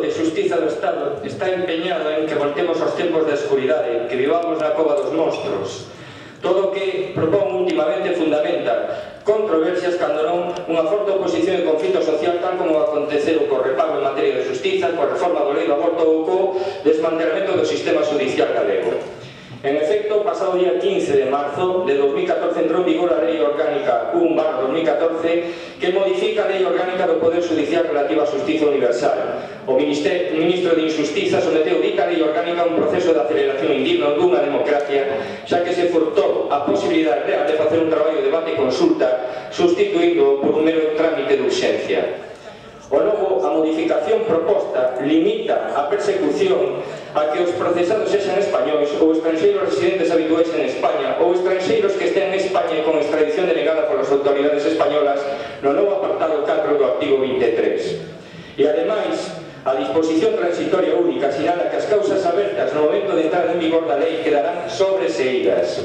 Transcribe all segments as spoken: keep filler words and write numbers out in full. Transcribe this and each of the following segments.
de Xustiza do Estado está empeñado en que voltemos aos tempos da escuridade, que vivamos na cova dos monstros. Todo o que propón últimamente fundamenta controversias cando non unha forte oposición e conflito social, tal como aconteceu co repago en materia de xustiza, coa reforma do lei do aborto ou co desmantelamento do sistema judicial galego. En efecto, pasado día quince de marzo de dos mil catorce entrou en vigor a Lei Orgánica un barra dos mil catorce que modifica a Lei Orgánica do Poder Judicial relativa á Xustiza Universal. O Ministro de Injustiza someteu dita Lei Orgánica a un proceso de aceleración indigno dunha democracia, xa que se furtou a posibilidade real de facer un traballo de debate e consulta, sustituindo por un mero trámite de urxencia. O logo, a modificación proposta limita a persecución a que os procesados sexan españois ou estranxeiros residentes habituais en España ou estranxeiros que estén en España con extradición denegada polas autoridades españolas no novo apartado catro do artigo vinte e tres. E, ademais, a disposición transitoria única sinala que as causas abertas no momento de entrada en vigor da lei quedarán sobreseídas.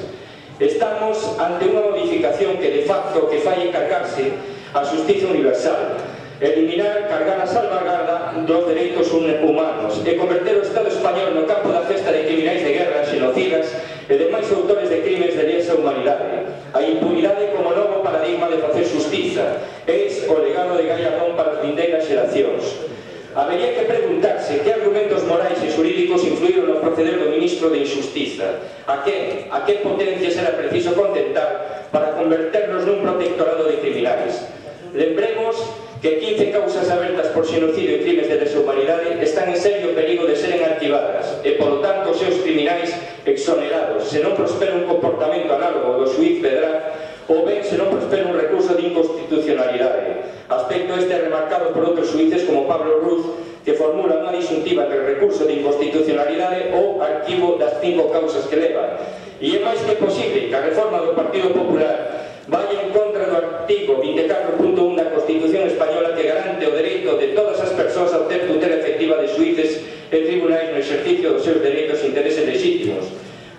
Estamos ante unha modificación que, de facto, que fai encargarse a xustiza universal, eliminar, cargar a salvaguarda dos dereitos humanos e converter o Estado español no campo da festa de criminais de guerra, xenocidas e demais autores de crimes de lesa humanidade. A impunidade como novo paradigma de facer xustiza é o legado de Gallardón para as vindeiras xeracións. Habería que preguntarse que argumentos morais e xurídicos influíron no proceder do Ministro de Injustiza. A que, a que potencias era preciso contentar para converternos nun protectorado de criminais. Lembremos que quince causas abertas por xenocidio e crimes de lesa humanidade están en serio perigo de seren arquivadas e, polo tanto, os seus criminais exonerados, se non prospera un comportamento análogo do xuíz Pedraz ou ben se non prospera un recurso de inconstitucionalidade. Aspecto este remarcado por outros xuíces como Pablo Ruz, que formula unha disyuntiva entre recurso de inconstitucionalidade ou arquivo das cinco causas que leva. E é máis que posible que a reforma do Partido Popular vaya en contra do artigo vinte e catro punto un da Constitución española que garante o dereito de todas as persoas a obter tutela efectiva de xuíces e tribunais no exercicio dos seus dereitos e intereses legítimos.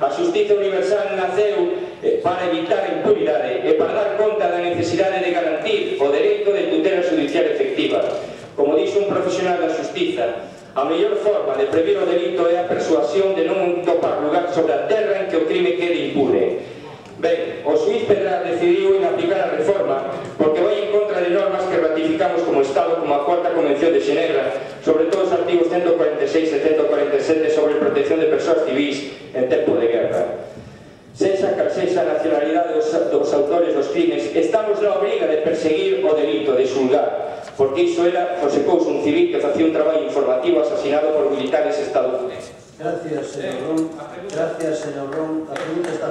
A xustiza universal naceu para evitar a impunidade e para dar conta da necesidade de garantir o dereito de tutela judicial efectiva. Como dixo un profesional da xustiza, a mellor forma de previr o delito é a persuasión de non topar lugar sobre a terra en que o crime quede impune. Ben, o xuíz Pedraz decidiu inaplicar a reforma porque vai en contra de normas que ratificamos como Estado, como a cuarta Convención de Xenebra, sobre todo os artigos ciento cuarenta e seis e ciento cuarenta e sete sobre protección de persoas civís en tempo de guerra. Sexa cal sexa a nacionalidade dos, dos autores dos crimes, estamos na obriga de perseguir o delito, de xulgar, porque iso era José Couso, un civil que facía un traballo informativo asesinado por militares estadounidenses. Gracias, señor Ron. Gracias, señor Ron. La pregunta está